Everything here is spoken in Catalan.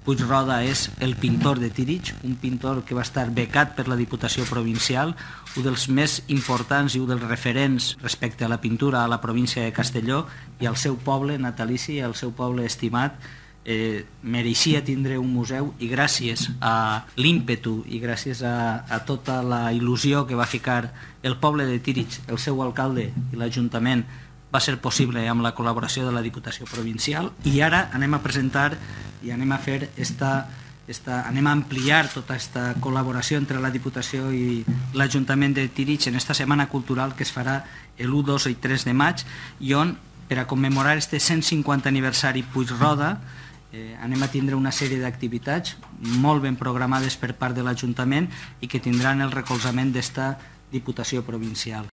Puigroda és el pintor de Tírig, un pintor que va estar becat per la Diputació Provincial, un dels més importants i un dels referents respecte a la pintura a la província de Castelló i al seu poble natalici, al seu poble estimat. Mereixia tindre un museu i gràcies a l'ímpetu i gràcies a tota la il·lusió que va ficar el poble de Tírig, el seu alcalde i l'Ajuntament, va ser possible amb la col·laboració de la Diputació Provincial. I ara anem a presentar i anem a fer anem a ampliar tota aquesta col·laboració entre la Diputació i l'Ajuntament de Tírig en esta setmana cultural que es farà l'1, 2 i 3 de maig i on, per a commemorar este 150 aniversari Puigroda, anem a tindre una sèrie d'activitats molt ben programades per part de l'Ajuntament i que tindran el recolzament d'esta Diputació Provincial.